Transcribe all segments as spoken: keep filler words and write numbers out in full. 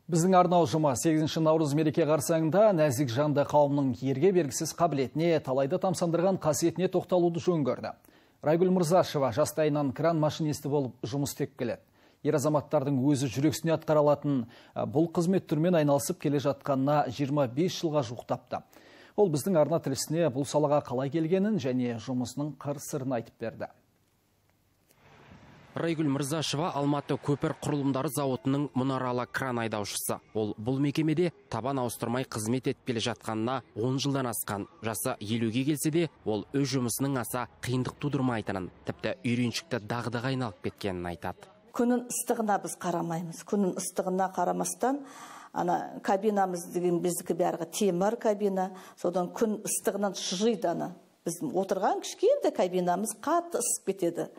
Біздің арнау ұжымы сегізінші наурыз мереке қарсаңында нәзік жанды қауымның ерге бергісіз қабілетіне, талайды тамсандырған қасиетіне тоқталуды жөн көрді. Райгүл Мырзашева жастайынан кран машинисті болып жұмыс істеп келеді. Ер азаматтардың өзі жүрексіне атқаралатын бұл қызмет түрмен айналысып келе жатқанына жиырма бес жылға жуықтапты. Ол біздің арна тілшісіне бұл салаға қалай келгенін және жұмысының қыр-сырын айтып берді. Райгүл Мырзашева Алматы көпір құрылымдары зауытының мұнаралы кран айдаушысы. Ол бұл мекемеде табан ауыстырмай қызмет етпелі жатқанына он жылдан асқан. Жасы елуге келсе де, ол өз жұмысының аса қиындық тудырмайтынын, тіпті үйреншікті дағдыға айналып кеткенін айтады. Күнін ыстығына біз қарамаймыз. Күнін ыстығына қарамастан, ана кабинамыз деген біздікі бәрі темір кабина, содан күн ыстығынан шыжиды ана. Біз отырған кішкентай кабинамыз қатты ысып кетеді.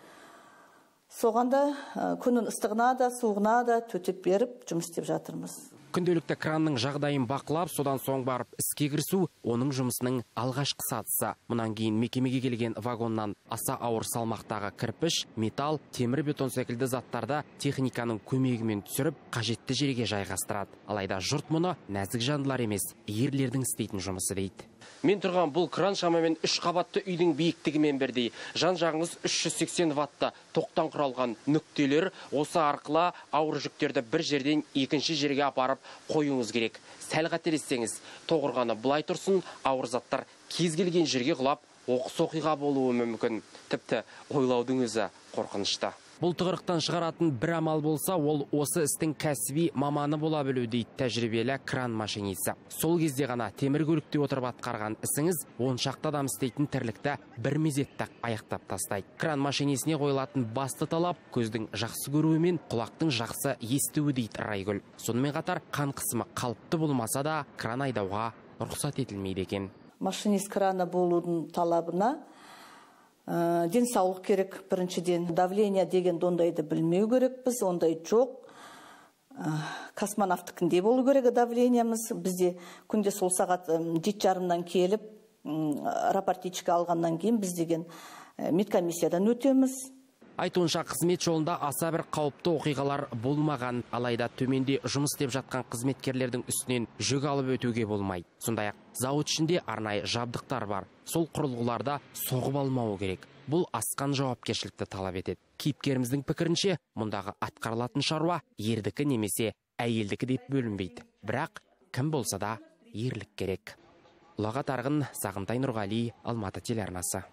Соғанда күнін ыстығына да, суығына да төтеп беріп жұмыс істеп жатырмыз. Күнделікті кранның жағдайын бақылап, содан соң барып іске кірісу оның жұмысының алғашқы сатысы. Мұнан кейін мекемеге келген вагоннан аса ауыр салмақтағы кірпіш, металл, темір бетон секілді заттарды техниканың көмегімен түсіріп, қажетті жерге жайғастырады. Алайда жұрт мұны нәзік жандылар емес, ерлердің істейтін жұмысы дейді. Мен тұрған бұл кран шамамен үш қабатты үйдің биіктігімен бірдей. Жан жағыңыз үш жүз сексен ватты тоқтан құралған нүктелер, осы арқылы ауыр жүктерді бір жерден екінші жерге апарып қоюыңыз керек. Сәл қателессеңіз, тоғырғаны былай тұрсын, ауыр заттар кез келген жерге құлап, оқыс оқиға болуы мүмкін. Тіпті ойлаудың өзі қорқынышты. Бұл тығырықтан шығаратын бір амал болса, ол осы істің кәсіби маманы бола білу дейді тәжірибелі кран машинисі. Сол кезде ғана темір көлікте отырып атқарған ісіңіз он шақты адам істейтін тірлікті бір мезетте аяқтап тастайды. Кран машинисіне қойылатын басты талап көздің жақсы көруі мен құлақтың жақсы естуі дейді Райгүл. Сонымен қатар қан қысымы қалыпты болмаса да кран айдауға рұқсат етілмейді екен. Машинист краны болудың талабына денсаулық керек біріншіден. Давление деген ондайды білмеу керек біз, ондай жоқ. Космонавтікінде болу керек давлениямыз. Бізде күнде сол сағат жеті жарымнан келіп, рапортичка алғаннан кейін біз деген медкомиссиядан өтеміз. Айтуынша қызмет жолында аса бір қауіпті оқиғалар болмаған, алайда төменде жұмыс істеп жатқан қызметкерлердің үстінен жүк алып өтуге болмайды. Сондай-ақ зауыт ішінде арнайы жабдықтар бар. Сол құрылғыларда соғып алмауы керек. Бұл асқан жауапкершілікті талап етеді. Кейіпкеріміздің пікірінше, мұндағы атқарылатын шаруа ердікі немесе әйелдікі деп бөлінбейді. Бірақ кім болса да ерлік керек. Ұлағат Арғын, Сағынтай Нұрғали, Алматы телеарнасы.